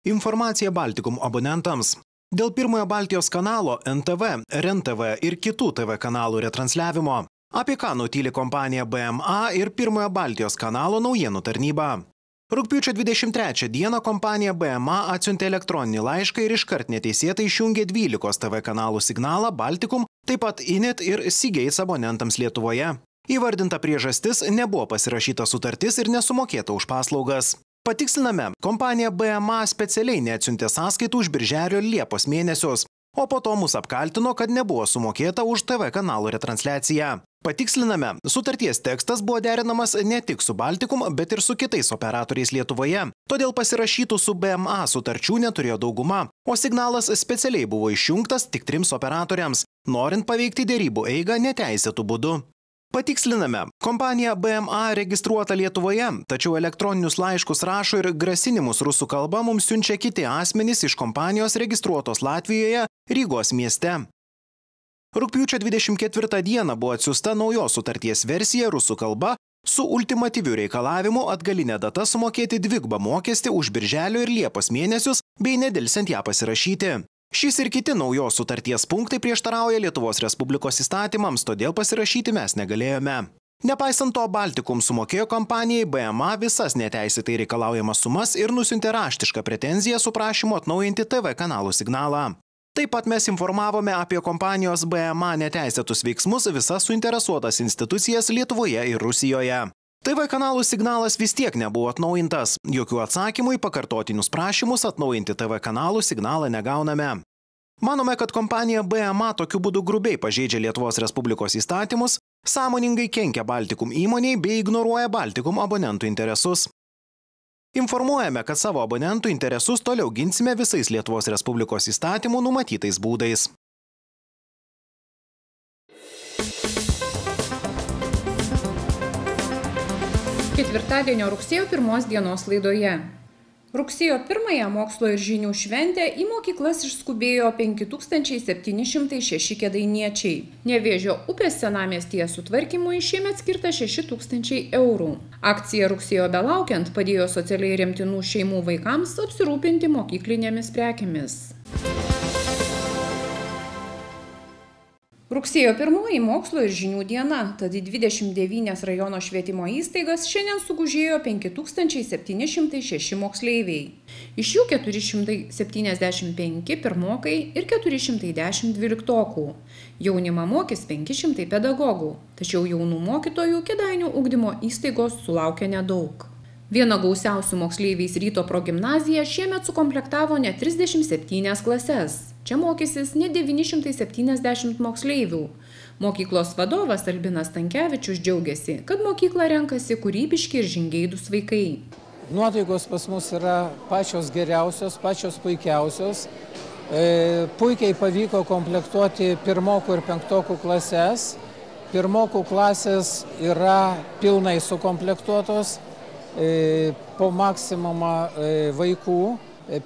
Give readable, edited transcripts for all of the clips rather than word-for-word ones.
Informacija Baltikum abonentams. Dėl pirmojo Baltijos kanalo NTV, RNTV ir kitų TV kanalų retransliavimo. Apie ką nutyli kompanija BMA ir pirmojo Baltijos kanalo naujienų tarnyba. Rugpjūčio 23 dieną kompanija BMA atsiuntė elektroninį laišką ir iškart neteisėtai išjungė 12 TV kanalų signalą Baltikum, taip pat Init ir Seagate abonentams Lietuvoje. Įvardinta priežastis – nebuvo pasirašyta sutartis ir nesumokėta už paslaugas. Patiksliname, kompanija BMA specialiai neatsiuntė sąskaitų už birželio ir liepos mėnesius, o po to mus apkaltino, kad nebuvo sumokėta už TV kanalų retransliaciją. Patiksliname, sutarties tekstas buvo derinamas ne tik su Baltikum, bet ir su kitais operatoriais Lietuvoje. Todėl pasirašytų su BMA sutarčių neturėjo dauguma, o signalas specialiai buvo išjungtas tik 3 operatoriams, norint paveikti derybų eigą neteisėtų būdu. Patiksliname, kompanija BMA registruota Lietuvoje, tačiau elektroninius laiškus rašo ir grasinimus rusų kalba mums siunčia kiti asmenys iš kompanijos registruotos Latvijoje, Rygos mieste. Rugpjūčio 24 dieną buvo atsiųsta naujos sutarties versija rusų kalba su ultimatyviu reikalavimu atgalinę datą sumokėti dvigubą mokestį už birželio ir liepos mėnesius bei nedelsiant ją pasirašyti. Šis ir kiti naujos sutarties punktai prieštarauja Lietuvos Respublikos įstatymams, todėl pasirašyti mes negalėjome. Nepaisant to, Baltikum sumokėjo kompanijai BMA visas neteisėtai reikalaujamas sumas ir nusiuntė raštišką pretenziją su prašymu atnaujinti TV kanalų signalą. Taip pat mes informavome apie kompanijos BMA neteisėtus veiksmus visas suinteresuotas institucijas Lietuvoje ir Rusijoje. TV kanalų signalas vis tiek nebuvo atnaujintas. Jokių atsakymų į pakartotinius prašymus atnaujinti TV kanalų signalą negauname. Manome, kad kompanija BMA tokiu būdu grubiai pažeidžia Lietuvos Respublikos įstatymus, sąmoningai kenkia Baltikum įmoniai bei ignoruoja Baltikum abonentų interesus. Informuojame, kad savo abonentų interesus toliau ginsime visais Lietuvos Respublikos įstatymų numatytais būdais. Ketvirtadienio rugsėjo 1 dienos laidoje. Rugsėjo 1 mokslo ir žinių šventę į mokyklas išskubėjo 5706 kėdainiečiai. Nevėžio upės senamiestyje sutvarkymui šiemet skirta 6000 eurų. Akcija rugsėjo belaukiant padėjo socialiai remtinų šeimų vaikams apsirūpinti mokyklinėmis prekėmis. Rugsėjo 1 mokslo ir žinių diena, tad į 29 rajono švietimo įstaigas šiandien sugužėjo 5706 moksleiviai. Iš jų 475 pirmokai ir 410 dvyliktokų. Jaunimą mokys 500 pedagogų, tačiau jaunų mokytojų Kėdainių ugdymo įstaigos sulaukia nedaug. Viena gausiausių moksleiviais Ryto progimnazija šiemet sukomplektavo net 37 klases. Čia mokysis net 970 moksleivių. Mokyklos vadovas Albinas Stankevičius džiaugiasi, kad mokyklą renkasi kūrybiški ir žingeidūs vaikai. Nuotaikos pas mus yra pačios geriausios, pačios puikiausios. Puikiai pavyko komplektuoti pirmokų ir penktokų klases. Pirmokų klasės yra pilnai sukomplektuotos po maksimumą vaikų.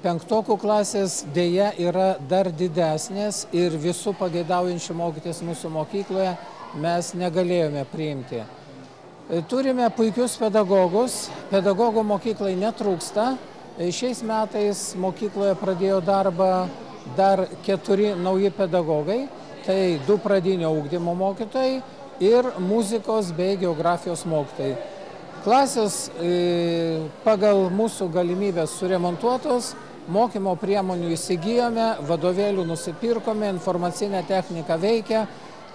Penktokų klasės dėja yra dar didesnės ir visų pageidaujančių mokytis mūsų mokykloje mes negalėjome priimti. Turime puikius pedagogus, pedagogų mokyklai netrūksta. Šiais metais mokykloje pradėjo darbą dar 4 nauji pedagogai, tai 2 pradinio ugdymo mokytojai ir muzikos bei geografijos mokytojai. Klasės pagal mūsų galimybės suremontuotos, mokymo priemonių įsigijome, vadovėlių nusipirkome, informacinė technika veikia.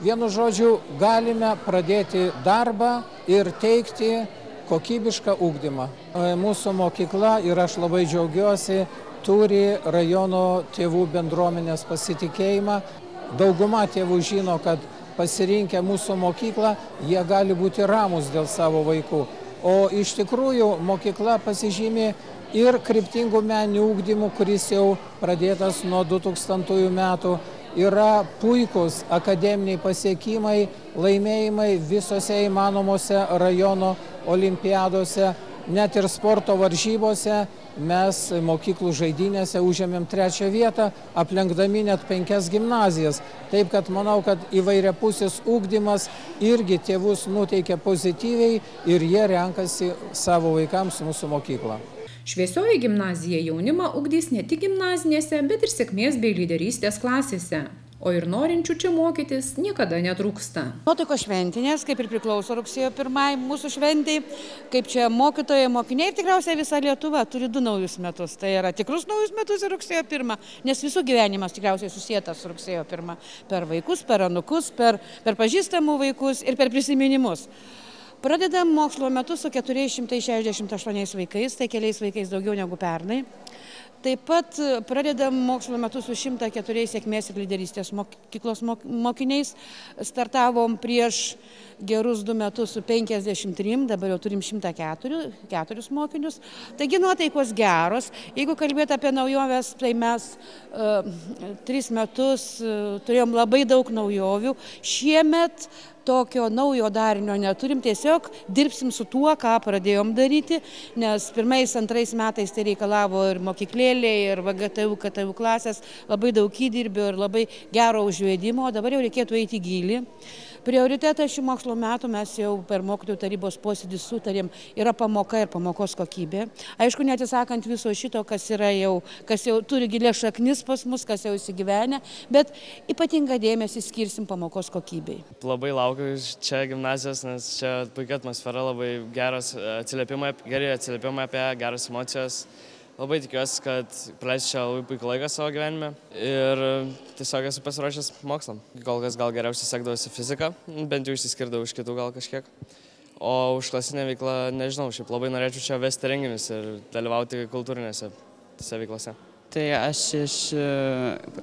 Vienu žodžiu, galime pradėti darbą ir teikti kokybišką ugdymą. Mūsų mokykla, ir aš labai džiaugiuosi, turi rajono tėvų bendruomenės pasitikėjimą. Dauguma tėvų žino, kad pasirinkę mūsų mokyklą, jie gali būti ramūs dėl savo vaikų. O iš tikrųjų mokykla pasižymė ir kryptingų meninių ugdymų, kuris jau pradėtas nuo 2000 metų. Yra puikus akademiniai pasiekimai, laimėjimai visose įmanomose rajono olimpiadose, net ir sporto varžybose. Mes mokyklų žaidynėse užėmėm 3 vietą, aplenkdami net 5 gimnazijas. Taip, kad manau, kad įvairiapusis ugdymas irgi tėvus nuteikia pozityviai ir jie renkasi savo vaikams mūsų mokyklą. Šviesioji gimnazija jaunimą ugdys ne tik gimnazinėse, bet ir sėkmės bei lyderystės klasėse. O ir norinčių čia mokytis niekada netrūksta. Nuotaikos šventinės, kaip ir priklauso rugsėjo 1 mūsų šventei, kaip čia mokytojai, mokiniai ir tikriausiai visa Lietuva turi 2 naujus metus. Tai yra tikrus naujus metus ir rugsėjo 1, nes visų gyvenimas tikriausiai susietas su rugsėjo 1. Per vaikus, per anūkus, per pažįstamų vaikus ir per prisiminimus. Pradedam mokslo metus su 468 vaikais, tai keliais vaikais daugiau negu pernai. Taip pat pradedam mokslo metus su 104 sėkmės ir lyderystės mokyklos mokiniais. Startavom prieš gerus 2 metus su 53, dabar jau turim 104 mokinius. Taigi nuotaikos geros. Jeigu kalbėti apie naujoves, tai mes 3 metus turėjom labai daug naujovių. Šiemet tokio naujo darinio neturim, tiesiog dirbsim su tuo, ką pradėjom daryti, nes 1-2 metais tai reikalavo ir mokyklėlė, ir VGTU, KTU klasės, labai daug įdirbio ir labai gero užvedimo, o dabar jau reikėtų eiti į gylį. Prioritetas šių mokslo metų mes jau per mokytojų tarybos posėdį sutarėm, yra pamoka ir pamokos kokybė. Aišku, neatsisakant viso šito, kas jau turi gilias šaknis pas mus, kas jau įsigyvenę, bet ypatingą dėmesį skirsim pamokos kokybei. Labai laukiu čia gimnazijos, nes čia puikia atmosfera, labai geras geri atsiliepimai apie geras emocijos. Labai tikiuosi, kad praleisiu čia labai puikų laiką savo gyvenime ir tiesiog esu pasiruošęs mokslam. Kol kas gal geriausiai sekdavosi fiziką, bent jau išsiskirdavau iš kitų gal kažkiek. O už klasinę veiklą nežinau, šiaip labai norėčiau čia vesti renginius ir dalyvauti kultūrinėse veiklose. Tai aš iš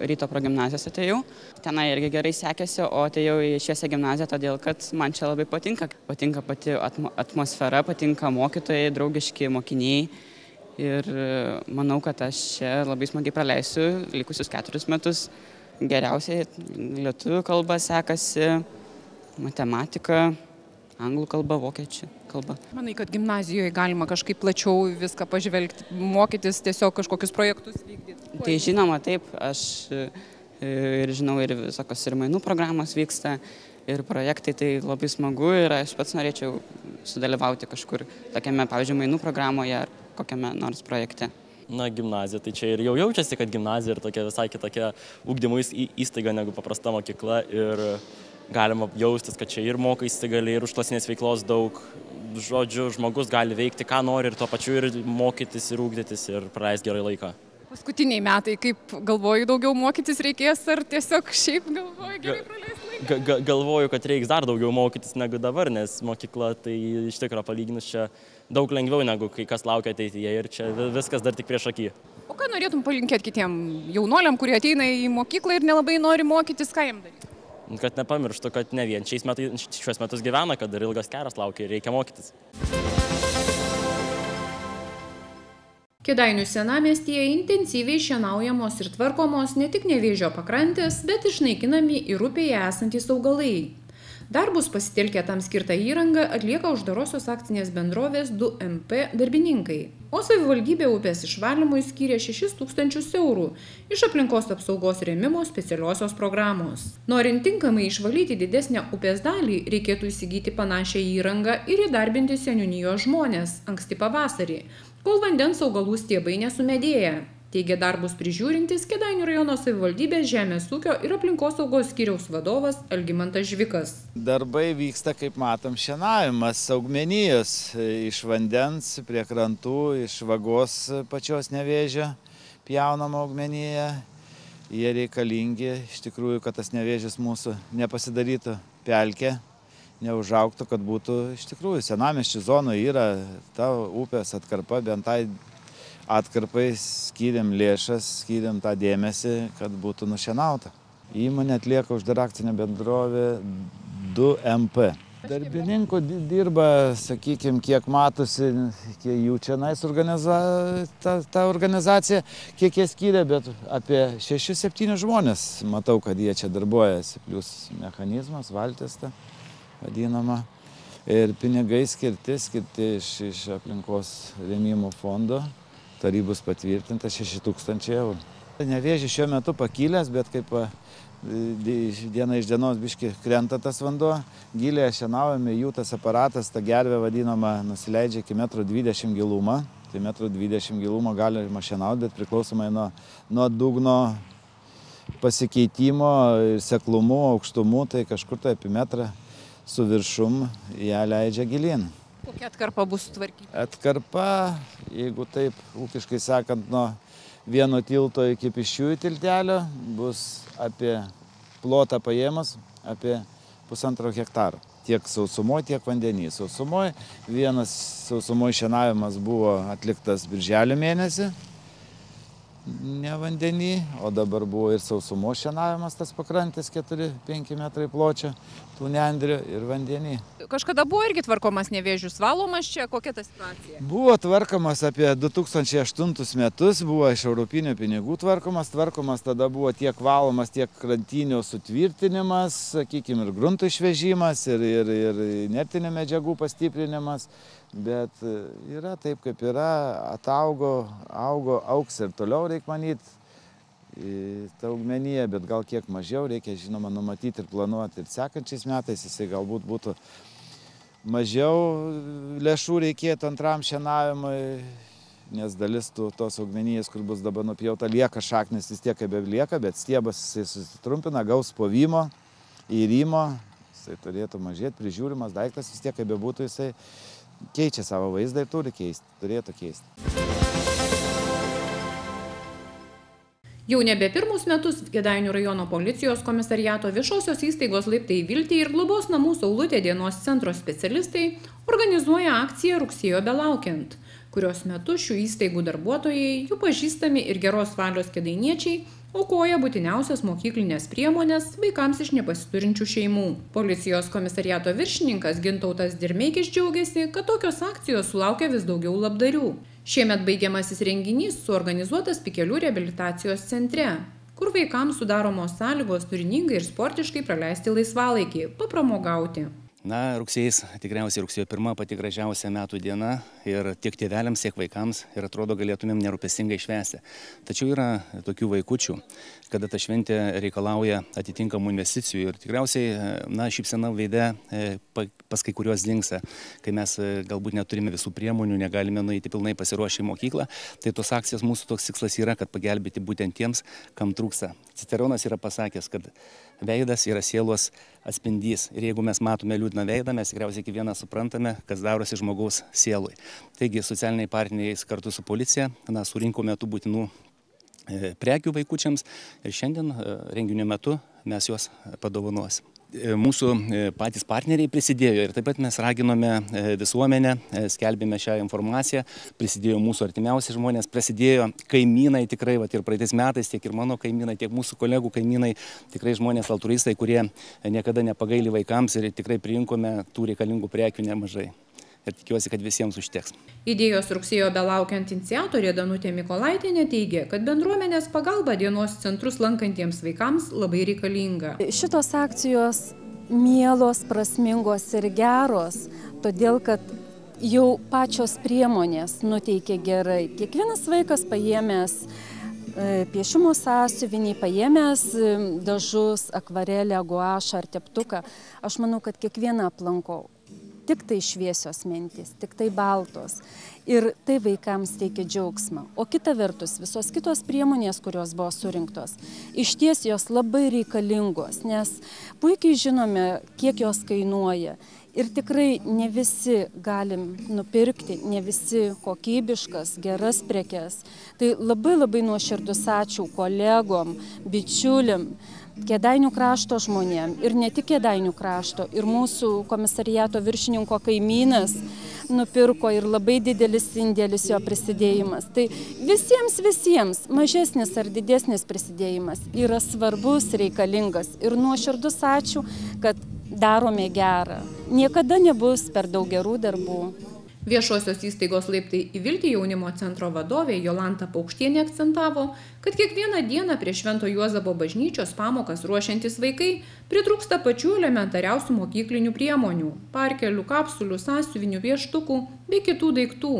ryto progimnazijos atėjau, tenai irgi gerai sekėsi, o atėjau į šviesią gimnaziją, todėl kad man čia labai patinka. Patinka pati atmosfera, patinka mokytojai, draugiški mokiniai. Ir manau, kad aš čia labai smagiai praleisiu likusius 4 metus. Geriausiai lietuvių kalba sekasi, matematika, anglų kalba, vokiečių kalba. Manai, kad gimnazijoje galima kažkaip plačiau viską pažvelgti, mokytis, tiesiog kažkokius projektus vykdyti? Tai žinoma, taip. Aš ir žinau, ir visokios ir mainų programos vyksta, ir projektai, tai labai smagu ir aš pats norėčiau sudalyvauti kažkur tokiame, pavyzdžiui, mainų programoje ar kokiame nors projekte. Na, gimnazija, tai čia ir jau jaučiasi, kad gimnazija yra tokia visai kitokia ugdymo įstaiga negu paprasta mokykla ir galima jaustis, kad čia ir mokaisi gali, ir užklasinės veiklos daug. Žodžiu, žmogus gali veikti, ką nori ir tuo pačiu ir mokytis, ir ugdytis, ir praleisti gerai laiką. Paskutiniai metai, kaip galvoju, daugiau mokytis reikės, ar tiesiog šiaip galvoju gerai praleisti laiką? Galvoju, kad reiks dar daugiau mokytis negu dabar, nes mokykla tai iš tikrųjų palyginus čia daug lengviau negu kai kas laukia ateityje ir čia viskas dar tik prieš akį. O ką norėtum palinkėti kitiem jaunoliam, kurie ateina į mokyklą ir nelabai nori mokytis, ką jiem daryti? Kad nepamirštų, kad ne vien šiuos metus gyvena, kad dar ilgas kelias laukia ir reikia mokytis. Kėdainių senamiestyje intensyviai šienaujamos ir tvarkomos ne tik Nevėžio pakrantės, bet išnaikinami ir upėje esantys augalai. Darbus pasitelkę tam skirtą įrangą atlieka uždarosios akcinės bendrovės 2MP darbininkai, o savivaldybė upės išvalymui skyrė 6 000 eurų iš aplinkos apsaugos rėmimo specialiosios programos. Norint tinkamai išvalyti didesnę upės dalį, reikėtų įsigyti panašią įrangą ir įdarbinti seniūnijos žmonės anksti pavasarį, kol vandens augalų stiebai nesumedėja, teigia darbus prižiūrintis Kėdainių rajono savivaldybės žemės ūkio ir aplinkosaugos skyriaus vadovas Algimantas Žvikas. Darbai vyksta, kaip matom, šienavimas augmenijos iš vandens prie krantų, iš vagos pačios Nevėžio pjaunama augmenija. Jie reikalingi, iš tikrųjų, kad tas Nevėžis mūsų nepasidarytų pelkę, neužaugtų, kad būtų iš tikrųjų senamiesčių zonoje yra ta upės atkarpa, bent tai atkarpai skyrėm lėšas, skyrėm tą dėmesį, kad būtų nušienauta. Įmonė atlieka uždarą akcinę bendrovę 2MP. Darbininkų dirba, sakykime, kiek matosi, kiek jų čia ta organizacija, kiek jie skyrė, bet apie 6-7 žmonės matau, kad jie čia darbuojasi, plus mechanizmas, valtis ta vadinama. Ir pinigai skirti iš aplinkos rėmimo fondo. Tarybos patvirtinta 6 000 eurų. Nevėžis šiuo metu pakilęs, bet kaip diena iš dienos biški krenta tas vanduo, giliai šienaujame, jų tas aparatas, ta gervė vadinama, nusileidžia iki 1,20 m gilumą. Tai 1,20 m gilumo galima šienauti, bet priklausomai nuo dugno pasikeitimo, seklumų, aukštumų, tai kažkur tai apie metrą su viršum ją leidžia gilin. Kokia atkarpa bus sutvarkyta? Atkarpa, jeigu taip ūkiškai sakant, nuo vieno tilto iki pėsčiųjų tiltelio bus apie plotą paėmus apie 1,5 hektaro. Tiek sausumoje, tiek vandenyje. Sausumoje vienas sausumoje šienavimas buvo atliktas birželio mėnesį, ne vandenį, o dabar buvo ir sausumo šienavimas, tas pakrantės 4-5 metrai pločio, tų nendrių ir vandenį. Kažkada buvo irgi tvarkomas Nevėžis, valomas čia, kokia ta situacija? Buvo tvarkomas apie 2008 metus, buvo iš europinių pinigų tvarkomas tada buvo tiek valomas, tiek krantinių sutvirtinimas, sakykime, ir grunto išvežimas, ir inertinių medžiagų pastiprinimas. Bet yra taip, kaip yra, augs ir toliau, reikia manyti, ta augmenija, bet gal kiek mažiau, reikia, žinoma, numatyti ir planuoti. Ir sekančiais metais jisai galbūt būtų mažiau lėšų reikėtų antram šienavimui, nes dalis tos augmenijos, kur bus dabar nupjauta, lieka šaknis vis tiek kaip lieka, bet stiebas jisai susitrumpina, gaus povimo, įrimo, jisai turėtų mažėti, prižiūrimas daiktas vis tiek kaip bebūtų, jisai keičia savo vaizdą ir turėtų keisti. Jau nebe pirmus metus Kėdainių rajono policijos komisariato viešosios įstaigos Laiptai į Viltį ir globos namų Saulutė dienos centro specialistai organizuoja akciją Rugsėjo belaukiant, kurios metu šių įstaigų darbuotojai, jų pažįstami ir geros valios kėdainiečiai aukoja būtiniausias mokyklinės priemonės vaikams iš nepasiturinčių šeimų. Policijos komisariato viršininkas Gintautas Dirmeikis džiaugiasi, kad tokios akcijos sulaukia vis daugiau labdarių. Šiemet baigiamasis renginys suorganizuotas Pikelių reabilitacijos centre, kur vaikams sudaromos sąlygos turiningai ir sportiškai praleisti laisvalaikį, papramogauti. Na, rugsėjais, tikriausiai rugsėjo 1 pati gražiausia metų diena ir tiek tėveliams, tiek vaikams ir atrodo galėtumėm nerūpestingai švęsti. Tačiau yra tokių vaikučių, kada ta šventė reikalauja atitinkamų investicijų ir tikriausiai, na, šypsena veide pas kai kuriuos dingsta, kai mes galbūt neturime visų priemonių, negalime nueiti pilnai pasiruošę į mokyklą, tai tos akcijos mūsų toks tikslas yra, kad pagelbėti būtent tiems, kam trūksta. Ciceronas yra pasakęs, kad veidas yra sielos atspindys ir jeigu mes matome liūdną veidą, mes tikriausiai kiekvieną suprantame, kas darosi žmogaus sielui. Taigi socialiniai partneriai kartu su policija surinkome tų būtinų prekių vaikučiams ir šiandien renginio metu mes juos padovanosim. Mūsų patys partneriai prisidėjo ir taip pat mes raginome visuomenę, skelbėme šią informaciją, prisidėjo mūsų artimiausi žmonės, prisidėjo kaimynai tikrai, ir praeitais metais tiek ir mano kaimynai, tiek mūsų kolegų kaimynai, tikrai žmonės altruistai, kurie niekada nepagaili vaikams ir tikrai priinkome tų reikalingų prekių nemažai. Ir tikiuosi, kad visiems užteks. Idėjos Rugsėjo belaukiant iniciatorė Danutė Mikolaitienė teigia, kad bendruomenės pagalba dienos centrus lankantiems vaikams labai reikalinga. Šitos akcijos mielos, prasmingos ir geros, todėl kad jau pačios priemonės nuteikia gerai. Kiekvienas vaikas paėmęs piešimo sąsiuvinį, paėmęs dažus, akvarelę, guašą ar teptuką, aš manau, kad kiekvieną aplanko. Tik tai šviesios mintys, tik tai baltos. Ir tai vaikams teikia džiaugsmą. O kita vertus, visos kitos priemonės, kurios buvo surinktos, išties jos labai reikalingos, nes puikiai žinome, kiek jos kainuoja. Ir tikrai ne visi galim nupirkti, ne visi kokybiškas, geras prekes. Tai labai nuoširdus ačiū kolegom, bičiuliam, Kėdainių krašto žmonėm ir ne tik Kėdainių krašto, ir mūsų komisariato viršininko kaimynas nupirko ir labai didelis indėlis jo prisidėjimas. Tai visiems mažesnis ar didesnis prisidėjimas yra svarbus, reikalingas ir nuoširdus ačiū, kad darome gerą. Niekada nebus per daug gerų darbų. Viešosios įstaigos Laiptai į Viltį jaunimo centro vadovė Jolanta Paukštienė akcentavo, kad kiekvieną dieną prie Švento Juozapo bažnyčios pamokas ruošiantis vaikai pritrūksta pačių elementariausių mokyklinių priemonių – parkelių, kapsulių, sąsiuvinių, pieštukų bei kitų daiktų.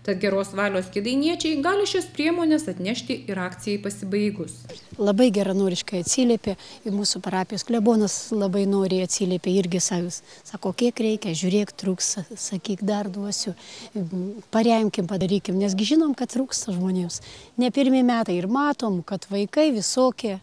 Tad geros valios kėdainiečiai gali šias priemonės atnešti ir akcijai pasibaigus. Labai geranoriškai atsiliepė, ir mūsų parapijos klebonas labai noriai atsiliepė irgi savus. Sako, kiek reikia, žiūrėk, trūks, sakyk, dar duosiu, paremkim, padarykim, nesgi žinom, kad trūksta žmonėms. Ne pirmi metai ir matom, kad vaikai visokie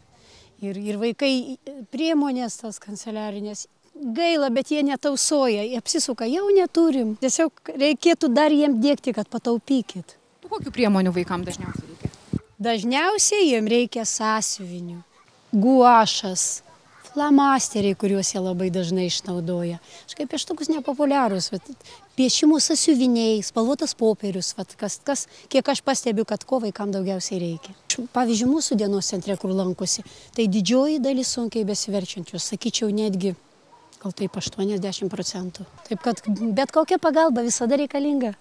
ir vaikai priemonės tas kanceliarinės. Gaila, bet jie netausoja, jie apsisuka, jau neturim. Tiesiog reikėtų dar jiems dėkti, kad pataupykit. Kokių priemonių vaikams dažniausiai reikia? Dažniausiai jiems reikia sąsiuvinių, guašas, flamasteriai, kuriuos jie labai dažnai išnaudoja. Kažkaip pieštukus nepopuliarūs, piešimų sąsiuviniai, spalvotas popierius, kiek aš pastebiu, kad ko vaikams daugiausiai reikia. Pavyzdžiui, mūsų dienos centre, kur lankosi, tai didžioji dalis sunkiai besiverčiančių, sakyčiau, netgi gal taip 80%. Taip kad bet kokia pagalba visada reikalinga.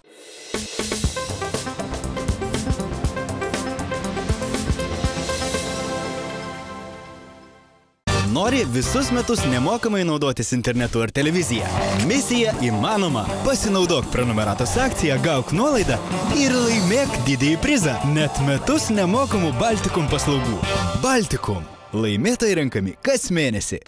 Nori visus metus nemokamai naudotis internetu ar televizija? Misija įmanoma. Pasinaudok prenumeratos akciją, gauk nuolaidą ir laimėk didįjį prizą. Net metus nemokamų Baltikum paslaugų. Baltikum. Laimėtojai renkami kas mėnesį.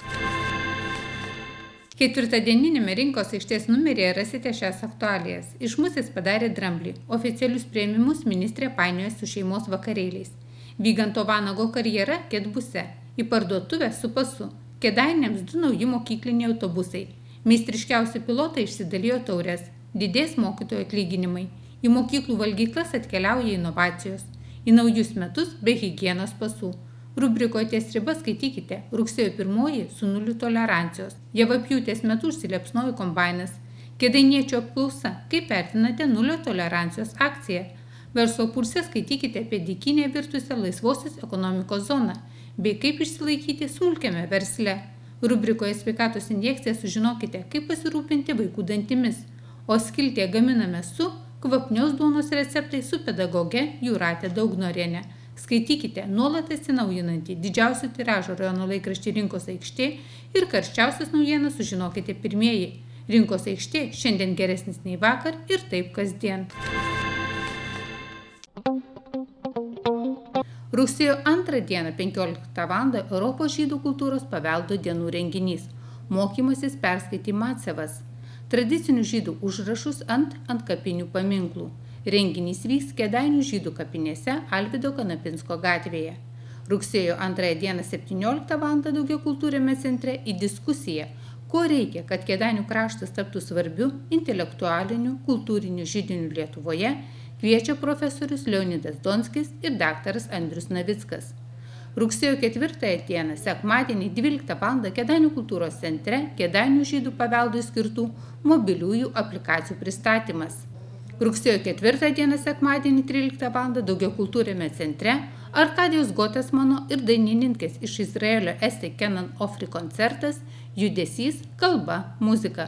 Ketvirtadieninėme rinkos aikštės numeryje rasite šias aktualijas. Iš Musės padarė dramblį. Oficialius priėmimus ministrė painioja su šeimos vakarėliais. Vyganto Vanago karjera Kedbuse. Į parduotuvę su pasu. Kėdainiams 2 nauji mokykliniai autobusai. Meistriškiausi pilotai išsidalijo taures. Didės mokytojų atlyginimai. Į mokyklų valgyklas atkeliauja inovacijos. Į naujus metus be higienos pasų. Rubrikoje ties riba skaitykite rugsėjo 1 su 0 tolerancijos. Javapjūtės metu užsilepsnojo kombainas. Kėdainiečio apklausa, kaip vertinate 0 tolerancijos akciją. Verslo pulse skaitykite apie dykinę virtusią laisvosios ekonomikos zoną, bei kaip išsilaikyti smulkiame versle. Rubrikoje sveikatos injekcija sužinokite, kaip pasirūpinti vaikų dantimis. O skiltyje gaminame su kvapnios duonos receptai su pedagoge Jūrate Daugnorienė. Skaitykite nuolat atsinaujinantį didžiausių tiražo rajono laikraštį Rinkos aikštė ir karščiausias naujienas sužinokite pirmieji. Rinkos aikštė šiandien geresnis nei vakar ir taip kasdien. Rugsėjo 2 dieną 15 val. Europos žydų kultūros paveldo dienų renginys. Mokymasis perskaityti Macevas. Tradicinių žydų užrašus ant kapinių paminklų. Renginys vyks Kėdainių žydų kapinėse Alvydo Kanapinsko gatvėje. Rugsėjo 2 dieną 17 val. Daugiakultūriame centre į diskusiją, ko reikia, kad Kėdainių kraštas taptų svarbiu intelektualiniu kultūriniu židiniu Lietuvoje, kviečia profesorius Leonidas Donskis ir daktaras Andrius Navickas. Rugsėjo 4 dieną, sekmadienį 12 val. Kėdainių kultūros centre Kėdainių žydų paveldui skirtų mobiliųjų aplikacijų pristatymas. Rugsėjo 4 dieną, sekmadienį 13 val. Daugiakultūriame centre Arkadijos Gotesmano ir dainininkės iš Izraelio Esti Kenan Ofri koncertas Judesys, kalba, muzika,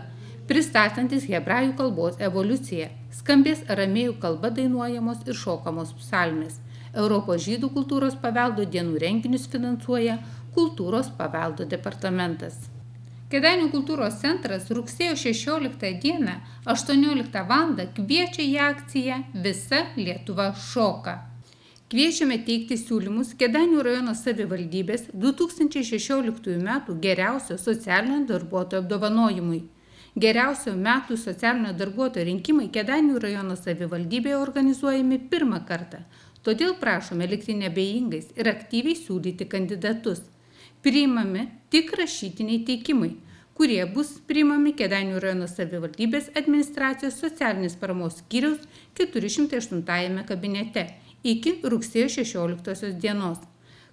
pristatantis hebrajų kalbos evoliuciją. Skambės aramėjų kalba dainuojamos ir šokamos psalmės. Europos žydų kultūros paveldo dienų renginius finansuoja Kultūros paveldo departamentas. Kėdainių kultūros centras rugsėjo 16 dieną 18 val. Kviečia į akciją Visa Lietuva šoka. Kviečiame teikti siūlymus Kėdainių rajono savivaldybės 2016 metų geriausio socialinio darbuotojo apdovanojimui. Geriausio metų socialinio darbuotojo rinkimai Kėdainių rajono savivaldybėje organizuojami pirmą kartą. Todėl prašome likti neabejingais ir aktyviai siūlyti kandidatus. Priimami tik rašytiniai teikimai, kurie bus priimami Kėdainių rajono savivaldybės administracijos socialinės paramos skyriaus 408 kabinete iki rugsėjo 16 dienos.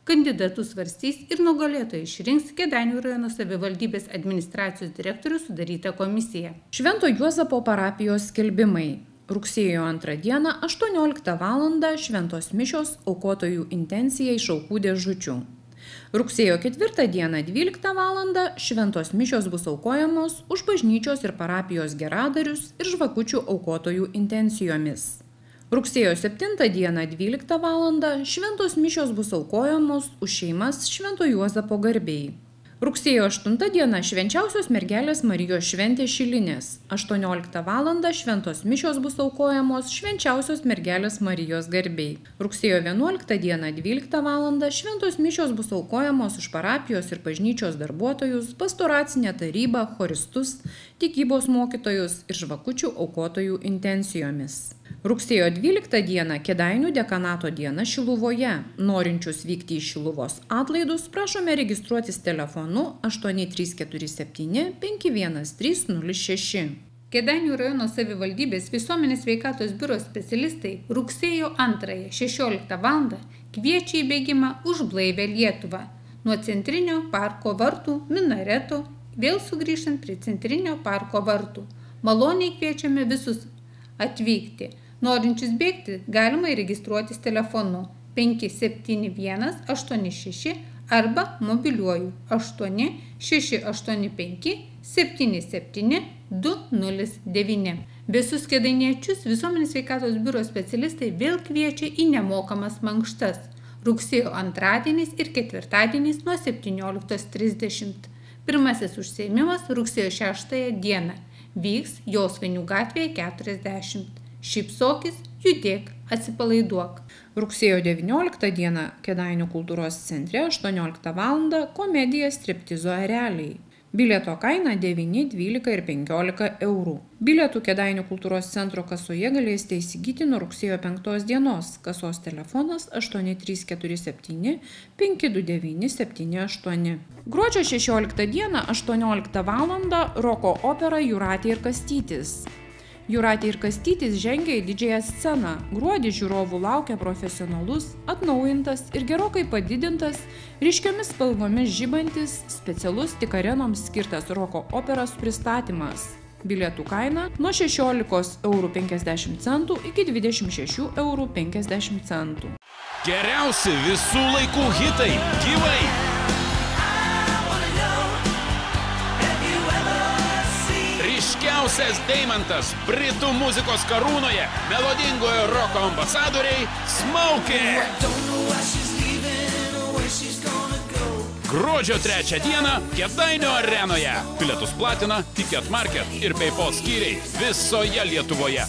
Kandidatus svarstys ir nugalėtojai išrinks Kėdainių rajono savivaldybės administracijos direktorių sudarytą komisiją. Švento Juozapo parapijos skelbimai. Rugsėjo 2 dieną 18 val. Šventos mišios aukotojų intencija iš aukų dėžučių. Rugsėjo 4 dieną 12 val. Šventos mišios bus aukojamos už bažnyčios ir parapijos geradarius ir žvakučių aukotojų intencijomis. Rugsėjo 7 dieną 12 val. Šventos mišios bus aukojamos už šeimas Švento Juozapo garbei. Rugsėjo 8 diena švenčiausios mergelės Marijos šventė Šilinės. 18 val. Šventos mišios bus aukojamos švenčiausios mergelės Marijos garbei. Rugsėjo 11 diena 12 val. Šventos mišios bus aukojamos už parapijos ir bažnyčios darbuotojus, pastoracinę tarybą, choristus, tikybos mokytojus ir žvakučių aukotojų intencijomis. Rugsėjo 12 dieną Kėdainių dekanato diena Šiluvoje. Norinčius vykti į Šiluvos atlaidus prašome registruotis telefonu 8347 51306. Kėdainių rajono savivaldybės visuomenės sveikatos biuro specialistai rugsėjo 2 16 val. Kviečia į bėgimą už blaivę Lietuvą nuo Centrinio parko vartų minareto, vėl sugrįžtant prie Centrinio parko vartų. Maloniai kviečiame visus atvykti. Norinčius bėgti galima įregistruotis telefonu 571 86 arba mobiliuoju 8 685 77 209. Visus kėdainiečius visuomenės sveikatos biuro specialistai vėl kviečia į nemokamas mankštas. Rugsėjo 2 ir 4 nuo 17:30. Pirmasis užsiėmimas rugsėjo 6 dieną. Vyks Josvainių gatvėje 40. Šypsokis, judėk, atsipalaiduok. Rugsėjo 19 dieną Kėdainių kultūros centre 18 val. Komedija striptizo ereliai. Bilieto kaina 9, 12 ir 15 eurų. Bilietų Kėdainių kultūros centro kasoje galėsite įsigyti nuo rugsėjo 5 dienos. Kasos telefonas 8347 529 78. Gruodžio 16 dieną 18 val. Roko opera Jūratė ir Kastytis. Jūratė ir Kastytis žengia į didžiąją sceną. Gruodį žiūrovų laukia profesionalus, atnaujintas ir gerokai padidintas, ryškiomis spalvomis žibantis, specialus tik arenoms skirtas roko operos pristatymas. Bilietų kaina nuo 16,50 eurų iki 26,50 eurų. Geriausi visų laikų hitai gyvai. Ryškiausias deimantas Britų muzikos karūnoje, melodingojo roko ambasadoriai Smokey. Gruodžio 3 dieną Kėdainių arenoje. Bilietus platina Ticket Market ir PayPal skyriai visoje Lietuvoje.